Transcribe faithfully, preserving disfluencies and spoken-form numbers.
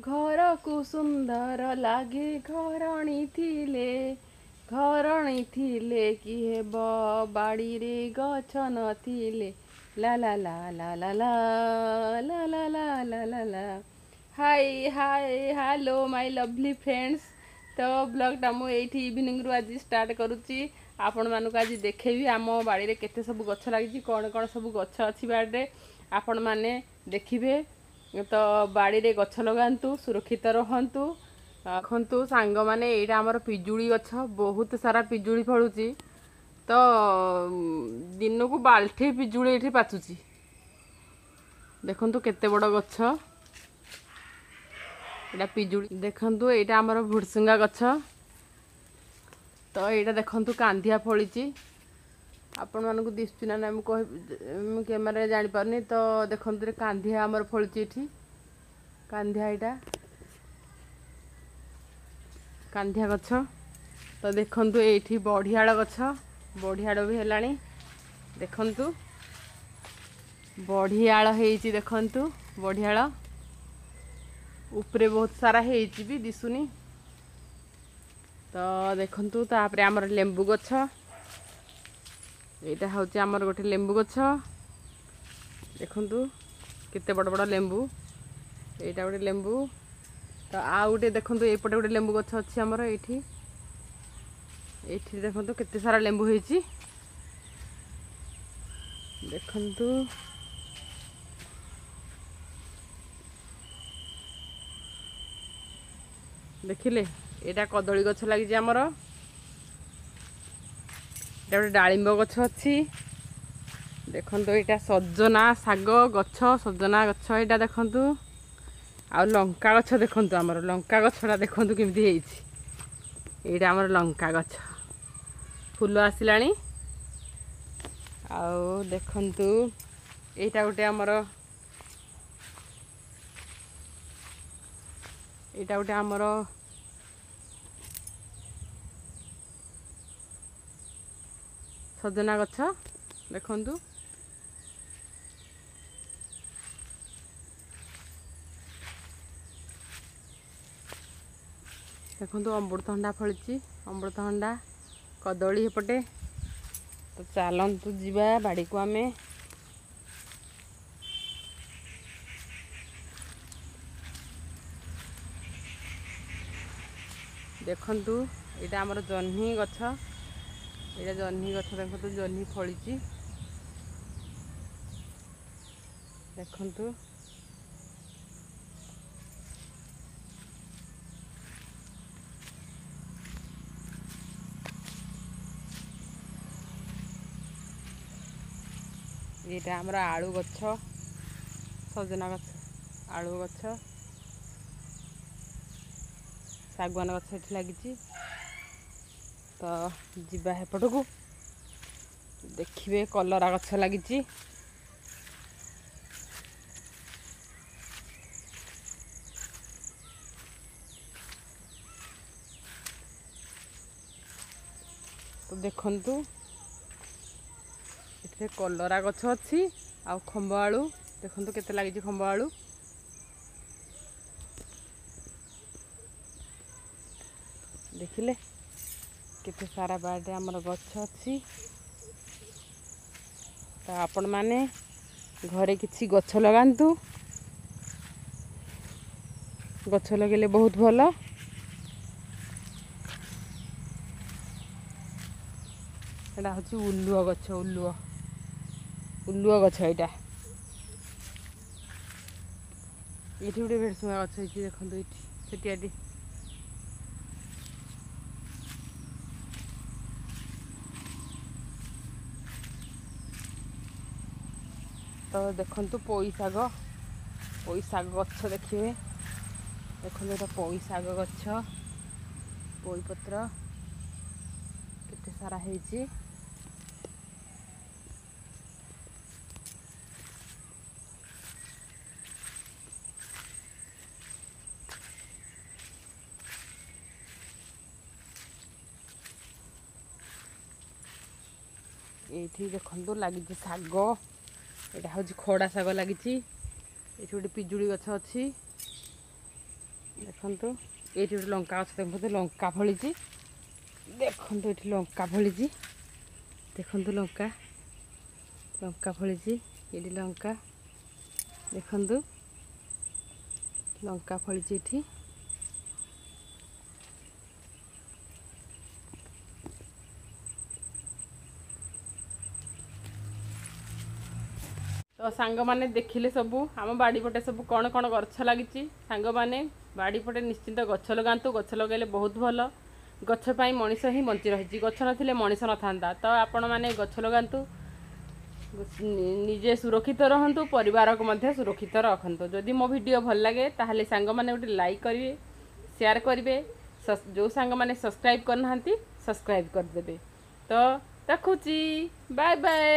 ଘରକୁ ସୁନ୍ଦର ଲାଗେ ଘରଣୀ ଥିଲେ, ଘରଣୀ ଥିଲେ କି ହେବ ବାଡ଼ିରେ ଗଛ ନଥିଲେ। ଲା ଲା ଲା ଲା ଲା ଲା ଲା ଲା ଲା ଲା ଲା ଲା। Hi hi, hello my lovely friends। ତ ବ୍ଲଗ୍ଟା ମୁଁ ଏଇଠି ଇଭିନିଂରୁ ଆଜି ଷ୍ଟାର୍ଟ କରୁଛି। ଆପଣମାନଙ୍କୁ ଆଜି ଦେଖେଇବି ଆମ ବାଡ଼ିରେ କେତେ ସବୁ ଗଛ ଲାଗିଛି, କ'ଣ କ'ଣ ସବୁ ଗଛ ଅଛି ବାଡ଼ିରେ, ଆପଣମାନେ ଦେଖିବେ। ତ ବାଡ଼ିରେ ଗଛ ଲଗାନ୍ତୁ, ସୁରକ୍ଷିତ ରହନ୍ତୁ। ଦେଖନ୍ତୁ ସାଙ୍ଗମାନେ, ଏଇଟା ଆମର ପିଜୁଳି ଗଛ, ବହୁତ ସାରା ପିଜୁଳି ଫଳୁଛି। ତ ଦିନକୁ ବାଲ୍ଟି ପିଜୁଳି ଏଇଠି ପାଚୁଛି। ଦେଖନ୍ତୁ କେତେ ବଡ଼ ଗଛ ଏଇଟା ପିଜୁଳି। ଦେଖନ୍ତୁ, ଏଇଟା ଆମର ଭୁଡ଼ସୁଙ୍ଗା ଗଛ। ତ ଏଇଟା ଦେଖନ୍ତୁ, କାନ୍ଧିଆ ଫଳିଛି। ଆପଣମାନଙ୍କୁ ଦିଶୁଛି ନା ନାଇଁ ମୁଁ କହି ମୁଁ କ୍ୟାମେରାରେ ଜାଣିପାରୁନି। ତ ଦେଖନ୍ତୁ, କାନ୍ଧିଆ ଆମର ଫଳିଛି ଏଠି, କାନ୍ଧିଆ, ଏଇଟା କାନ୍ଧିଆ ଗଛ। ତ ଦେଖନ୍ତୁ, ଏଇଠି ବଢ଼ିଆଳ ଗଛ, ବଢ଼ିଆଳ ବି ହେଲାଣି। ଦେଖନ୍ତୁ, ବଢ଼ିଆଳ ହେଇଛି। ଦେଖନ୍ତୁ, ବଢ଼ିଆଳ ଉପରେ ବହୁତ ସାରା ହେଇଛି ବି, ଦିଶୁନି। ତ ଦେଖନ୍ତୁ, ତାପରେ ଆମର ଲେମ୍ବୁ ଗଛ। ଏଇଟା ହେଉଛି ଆମର ଗୋଟେ ଲେମ୍ବୁ ଗଛ। ଦେଖନ୍ତୁ କେତେ ବଡ଼ ବଡ଼ ଲେମ୍ବୁ। ଏଇଟା ଗୋଟେ ଲେମ୍ବୁ। ତ ଆଉ ଗୋଟେ ଦେଖନ୍ତୁ, ଏଇପଟେ ଗୋଟେ ଲେମ୍ବୁ ଗଛ ଅଛି ଆମର ଏଇଠି। ଏଇଠି ଦେଖନ୍ତୁ କେତେ ସାରା ଲେମ୍ବୁ ହେଇଛି। ଦେଖନ୍ତୁ, ଦେଖିଲେ, ଏଇଟା କଦଳୀ ଗଛ ଲାଗିଛି ଆମର। ଏଇଟା ଗୋଟେ ଡାଳିମ୍ବ ଗଛ ଅଛି। ଦେଖନ୍ତୁ, ଏଇଟା ସଜନା ଶାଗ ଗଛ, ସଜନା ଗଛ ଏଇଟା ଦେଖନ୍ତୁ। ଆଉ ଲଙ୍କା ଗଛ ଦେଖନ୍ତୁ, ଆମର ଲଙ୍କା ଗଛଟା ଦେଖନ୍ତୁ କେମିତି ହେଇଛି। ଏଇଟା ଆମର ଲଙ୍କା ଗଛ, ଫୁଲ ଆସିଲାଣି। ଆଉ ଦେଖନ୍ତୁ, ଏଇଟା ଗୋଟେ ଆମର ଏଇଟା ଗୋଟେ ଆମର ସଜନା ଗଛ। ଦେଖନ୍ତୁ, ଦେଖନ୍ତୁ, ଅମୃତଭଣ୍ଡା ଫଳିଛି, ଅମୃତଭଣ୍ଡା, କଦଳୀ ଏପଟେ। ତ ଚାଲନ୍ତୁ ଯିବା ବାଡ଼ିକୁ ଆମେ। ଦେଖନ୍ତୁ, ଏଇଟା ଆମର ଜହ୍ନି ଗଛ। ଏଇଟା ଜହ୍ନି ଗଛ। ଦେଖନ୍ତୁ, ଜହ୍ନି ଫଳିଛି। ଦେଖନ୍ତୁ, ଏଇଟା ଆମର ଆଳୁ ଗଛ, ସଜନା ଗଛ, ଆଳୁ ଗଛ, ଶାଗୁଆନ ଗଛ ଏଠି ଲାଗିଛି। ତ ଯିବା ହେପଟକୁ, ଦେଖିବେ କଲରା ଗଛ ଲାଗିଛି। ତ ଦେଖନ୍ତୁ, ଏଥିରେ କଲରା ଗଛ ଅଛି ଆଉ ଖମ୍ବ ଆଳୁ ଦେଖନ୍ତୁ କେତେ ଲାଗିଛି ଖମ୍ବ ଆଳୁ। ଦେଖିଲେ କେତେ ସାରା ବାଡ଼ିରେ ଆମର ଗଛ ଅଛି। ତ ଆପଣମାନେ ଘରେ କିଛି ଗଛ ଲଗାନ୍ତୁ। ଗଛ ଲଗେଇଲେ ବହୁତ ଭଲ। ଏଇଟା ହେଉଛି ଉଲୁଅ ଗଛ, ଉଲୁଅ, ଉଲୁଅ ଗଛ ଏଇଟା। ଏଇଠି ଗୋଟେ ଭେରସୁଙ୍ଗା ଗଛ ହେଇଛି। ଦେଖନ୍ତୁ ଏଇଠି ଛୋଟିଆଟି। ତ ଦେଖନ୍ତୁ, ପୋଇ ଶାଗ, ପୋଇ ଶାଗ ଗଛ ଦେଖିବେ। ଦେଖନ୍ତୁ, ଏଇଟା ପୋଇ ଶାଗ ଗଛ। ପୋଇ ପତ୍ର କେତେ ସାରା ହେଇଛି। ଏଇଠି ଦେଖନ୍ତୁ ଲାଗିଛି ଶାଗ। ଏଇଟା ହେଉଛି ଖଡ଼ା ଶାଗ ଲାଗିଛି। ଏଇଠି ଗୋଟେ ପିଜୁଳି ଗଛ ଅଛି। ଦେଖନ୍ତୁ, ଏଇଠି ଗୋଟେ ଲଙ୍କା ଗଛ। ଦେଖନ୍ତୁ, ଲଙ୍କା ଫଳିଛି। ଦେଖନ୍ତୁ, ଏଠି ଲଙ୍କା ଫଳିଛି। ଦେଖନ୍ତୁ, ଲଙ୍କା ଲଙ୍କା ଫଳିଛି ଏଇଠି। ଲଙ୍କା ଦେଖନ୍ତୁ, ଲଙ୍କା ଫଳିଛି ଏଠି। ତ ସାଙ୍ଗମାନେ, ଦେଖିଲେ ସବୁ ଆମ ବାଡ଼ି ପଟେ ସବୁ କ'ଣ କ'ଣ ଗଛ ଲାଗିଛି। ସାଙ୍ଗମାନେ, ବାଡ଼ି ପଟେ ନିଶ୍ଚିନ୍ତ ଗଛ ଲଗାନ୍ତୁ। ଗଛ ଲଗାଇଲେ ବହୁତ ଭଲ। ଗଛ ପାଇଁ ମଣିଷ ହିଁ ବଞ୍ଚି ରହିଛି। ଗଛ ନଥିଲେ ମଣିଷ ନଥାନ୍ତା। ତ ଆପଣମାନେ ଗଛ ଲଗାନ୍ତୁ, ନିଜେ ସୁରକ୍ଷିତ ରହନ୍ତୁ, ପରିବାରକୁ ମଧ୍ୟ ସୁରକ୍ଷିତ ରଖନ୍ତୁ। ଯଦି ମୋ ଭିଡ଼ିଓ ଭଲ ଲାଗେ, ତାହେଲେ ସାଙ୍ଗମାନେ ଗୋଟେ ଲାଇକ୍ କରିବେ, ସେୟାର କରିବେ। ଯେଉଁ ସାଙ୍ଗମାନେ ସବସ୍କ୍ରାଇବ୍ କରିନାହାନ୍ତି, ସବସ୍କ୍ରାଇବ୍ କରିଦେବେ। ତ ରଖୁଛି, ବାଏ ବାଏ।